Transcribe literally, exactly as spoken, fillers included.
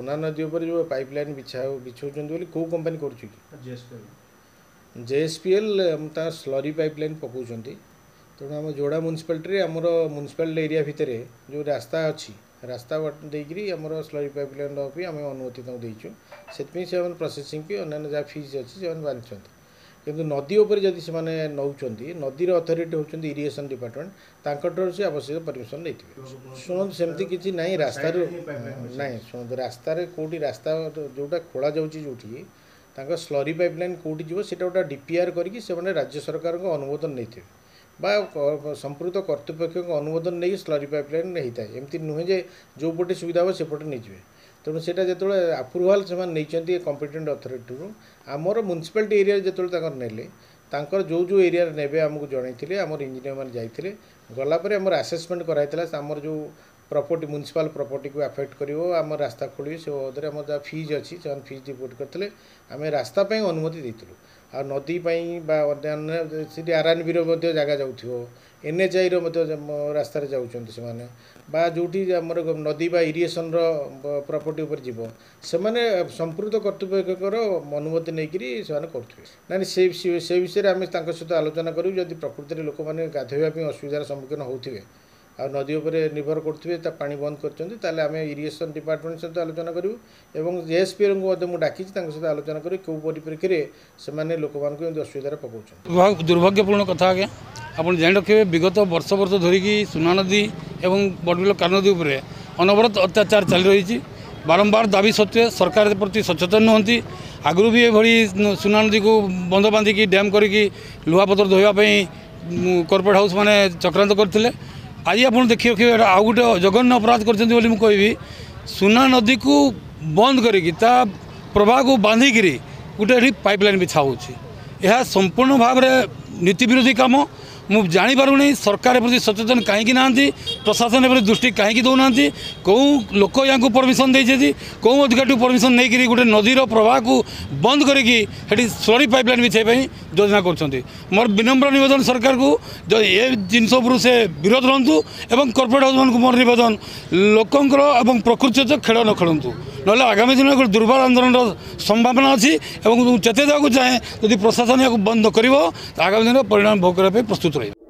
ସୁନା ନଦୀ ଉପରେ ଯେଉଁ ପାଇପ୍ ଲାଇନ୍ ବିଛା ବିଛାଉଛନ୍ତି ବୋଲି କେଉଁ କମ୍ପାନୀ କରୁଛି କି? ଜେଏସ୍ପିଏଲ୍ ତା ସ୍ଲରି ପାଇପ୍ ଲାଇନ୍ ପକାଉଛନ୍ତି। ତେଣୁ ଆମ ଯୋଡ଼ା ମ୍ୟୁନିସିପାଲିଟିରେ, ଆମର ମ୍ୟୁନିସିପାଲିଟି ଏରିଆ ଭିତରେ ଯେଉଁ ରାସ୍ତା ଅଛି, ରାସ୍ତା ଦେଇକରି ଆମର ସ୍ଲରି ପାଇପ୍ ଲାଇନ୍ ଦେବା ପାଇଁ ଆମେ ଅନୁମତି ତାଙ୍କୁ ଦେଇଛୁ। ସେଥିପାଇଁ ସେମାନେ ପ୍ରୋସେସିଂ ଫି, ଅନ୍ୟାନ୍ୟ ଯାହା ଫିଜ୍ ଅଛି, ସେମାନେ ବାନ୍ଧିଛନ୍ତି। କିନ୍ତୁ ନଦୀ ଉପରେ ଯଦି ସେମାନେ ନେଉଛନ୍ତି, ନଦୀର ଅଥରିଟି ହେଉଛନ୍ତି ଇରିଗେସନ୍ ଡିପାର୍ଟମେଣ୍ଟ, ତାଙ୍କଠାରୁ ସେ ଆବଶ୍ୟକ ପରମିସନ୍ ନେଇଥିବେ। ଶୁଣନ୍ତୁ, ସେମିତି କିଛି ନାହିଁ ରାସ୍ତାରୁ ନାହିଁ। ଶୁଣନ୍ତୁ, ରାସ୍ତାରେ କେଉଁଠି ରାସ୍ତା ଯେଉଁଟା ଖୋଳା ଯାଉଛି, ଯେଉଁଠି ତାଙ୍କ ସ୍ଲରି ପାଇପ୍ ଲାଇନ୍ କେଉଁଠି ଯିବ, ସେଇଟା ଗୋଟେ ଡିପିଆର୍ କରିକି ସେମାନେ ରାଜ୍ୟ ସରକାରଙ୍କ ଅନୁମୋଦନ ନେଇଥିବେ ବା ସମ୍ପୃକ୍ତ କର୍ତ୍ତୃପକ୍ଷଙ୍କ ଅନୁମୋଦନ ନେଇକି ସ୍ଲରି ପାଇପ୍ ଲାଇନ୍ ହେଇଥାଏ। ଏମିତି ନୁହେଁ ଯେ ଯେଉଁପଟେ ସୁବିଧା ହେବ ସେପଟେ ନେଇଯିବେ। ତେଣୁ ସେଇଟା ଯେତେବେଳେ ଆପ୍ରୁଭାଲ୍ ସେମାନେ ନେଇଛନ୍ତି କମ୍ପିଟେଣ୍ଟ ଅଥରିଟିରୁ, ଆମର ମ୍ୟୁନିସିପାଲିଟି ଏରିଆରେ ଯେତେବେଳେ ତାଙ୍କର ନେଲେ, ତାଙ୍କର ଯେଉଁ ଯେଉଁ ଏରିଆରେ ନେବେ ଆମକୁ ଜଣାଇଥିଲେ। ଆମର ଇଞ୍ଜିନିୟର ମାନେ ଯାଇଥିଲେ। ଗଲା ପରେ ଆମର ଆସେସମେଣ୍ଟ କରାହେଇଥିଲା, ଆମର ଯେଉଁ ପ୍ରପର୍ଟି, ମ୍ୟୁନିସିପାଲ ପ୍ରପର୍ଟିକୁ ଆଫେକ୍ଟ କରିବ, ଆମ ରାସ୍ତା ଖୋଳିବେ, ସେ ବାବଦରେ ଆମର ଯାହା ଫିଜ୍ ଅଛି ସେମାନେ ଫିଜ୍ ଡିପୋଜିଟ୍ କରିଥିଲେ। ଆମେ ରାସ୍ତା ପାଇଁ ଅନୁମତି ଦେଇଥିଲୁ। ଆଉ ନଦୀ ପାଇଁ ବା ଅନ୍ୟାନ୍ୟ ସେଠି ଆର୍ ଆନ୍ ବିର ମଧ୍ୟ ଜାଗା ଯାଉଥିବ, ଏନ୍ ଏଚ୍ ଆଇର ମଧ୍ୟ ରାସ୍ତାରେ ଯାଉଛନ୍ତି ସେମାନେ, ବା ଯେଉଁଠି ଆମର ନଦୀ ବା ଇରିଗେସନ୍ର ପ୍ରପର୍ଟି ଉପରେ ଯିବ, ସେମାନେ ସମ୍ପୃକ୍ତ କର୍ତ୍ତୃପକ୍ଷଙ୍କର ଅନୁମତି ନେଇକରି ସେମାନେ କରୁଥିବେ। ନାଇଁ, ସେ ସେ ବିଷୟରେ ଆମେ ତାଙ୍କ ସହିତ ଆଲୋଚନା କରିବୁ। ଯଦି ପ୍ରକୃତିରେ ଲୋକମାନେ ଗାଧୋଇବା ପାଇଁ ଅସୁବିଧାର ସମ୍ମୁଖୀନ ହେଉଥିବେ ଆଉ ନଦୀ ଉପରେ ନିର୍ଭର କରୁଥିବେ, ତା ପାଣି ବନ୍ଦ କରିଛନ୍ତି, ତାହେଲେ ଆମେ ଇରିଗେସନ୍ ଡିପାର୍ଟମେଣ୍ଟ ସହିତ ଆଲୋଚନା କରିବୁ ଏବଂ ଜେଏସ୍ପିଏଲ୍ଙ୍କୁ ମଧ୍ୟ ମୁଁ ଡାକିଛି, ତାଙ୍କ ସହିତ ଆଲୋଚନା କରି କେଉଁ ପରିପ୍ରେକ୍ଷୀରେ ସେମାନେ ଲୋକମାନଙ୍କୁ ଏମିତି ଅସୁବିଧାରେ ପକାଉଛନ୍ତି। ଦୁର୍ଭାଗ୍ୟପୂର୍ଣ୍ଣ କଥା ଆଜ୍ଞା। ଆପଣ ଜାଣି ରଖିବେ, ବିଗତ ବର୍ଷ ବର୍ଷ ଧରିକି ସୁନା ନଦୀ ଏବଂ ବଡ଼ବିଲ କାନଦୀ ଉପରେ ଅନବରତ ଅତ୍ୟାଚାର ଚାଲି ରହିଛି। ବାରମ୍ବାର ଦାବି ସତ୍ତ୍ୱେ ସରକାର ପ୍ରତି ସଚେତନ ନୁହନ୍ତି। ଆଗରୁ ବି ଏଭଳି ସୁନା ନଦୀକୁ ବନ୍ଧ ବାନ୍ଧିକି, ଡ୍ୟାମ୍ କରିକି ଲୁହାପଥର ଧୋଇବା ପାଇଁ କର୍ପୋରେଟ୍ ହାଉସ୍ ମାନେ ଚକ୍ରାନ୍ତ କରିଥିଲେ। ଆଜି ଆପଣ ଦେଖି ରଖିବେ, ଏଇଟା ଆଉ ଗୋଟେ ଜଘନ୍ୟ ଅପରାଧ କରିଛନ୍ତି ବୋଲି ମୁଁ କହିବି। ସୁନା ନଦୀକୁ ବନ୍ଦ କରିକି, ତା ପ୍ରବାହକୁ ବାନ୍ଧିକିରି ଗୋଟେ ଏଠି ପାଇପ୍ ଲାଇନ୍ ବିଛା ହେଉଛି। ଏହା ସମ୍ପୂର୍ଣ୍ଣ ଭାବରେ ନୀତି ବିରୋଧୀ କାମ। ମୁଁ ଜାଣିପାରୁନି ସରକାର ପ୍ରତି ସଚେତନ କାହିଁକି ନାହାନ୍ତି, ପ୍ରଶାସନ ଏପରି ଦୃଷ୍ଟି କାହିଁକି ଦେଉନାହାନ୍ତି, କେଉଁ ଲୋକ ୟାଙ୍କୁ ପରମିସନ୍ ଦେଇଛନ୍ତି, କେଉଁ ଅଧିକାରୀଠୁ ପରମିସନ୍ ନେଇକରି ଗୋଟେ ନଦୀର ପ୍ରବାହକୁ ବନ୍ଦ କରିକି ସେଠି ସ୍ଲରି ପାଇପ୍ ଲାଇନ୍ ବିଛାଇବା ପାଇଁ ଯୋଜନା କରୁଛନ୍ତି। ମୋର ବିନମ୍ର ନିବେଦନ ସରକାରକୁ, ଯଦି ଏ ଜିନିଷ ଉପରୁ ସେ ବିରୋଧ ରହନ୍ତୁ ଏବଂ କର୍ପୋରେଟ୍ ହାଉସ୍ମାନଙ୍କୁ ମୋର ନିବେଦନ, ଲୋକଙ୍କର ଏବଂ ପ୍ରକୃତି ସହିତ ଖେଳ ନ ଖେଳନ୍ତୁ, ନହେଲେ ଆଗାମୀ ଦିନରେ ଗୋଟେ ଦୁର୍ବାର ଆନ୍ଦୋଳନର ସମ୍ଭାବନା ଅଛି। ଏବଂ ମୁଁ ଚେତାଇ ଦେବାକୁ ଚାହେଁ, ଯଦି ପ୍ରଶାସନ ଏହାକୁ ବନ୍ଦ ନ କରିବ, ଆଗାମୀ ଦିନରେ ପରିଣାମ ଭୋଗ କରିବା ପାଇଁ ପ୍ରସ୍ତୁତ ରହିବ।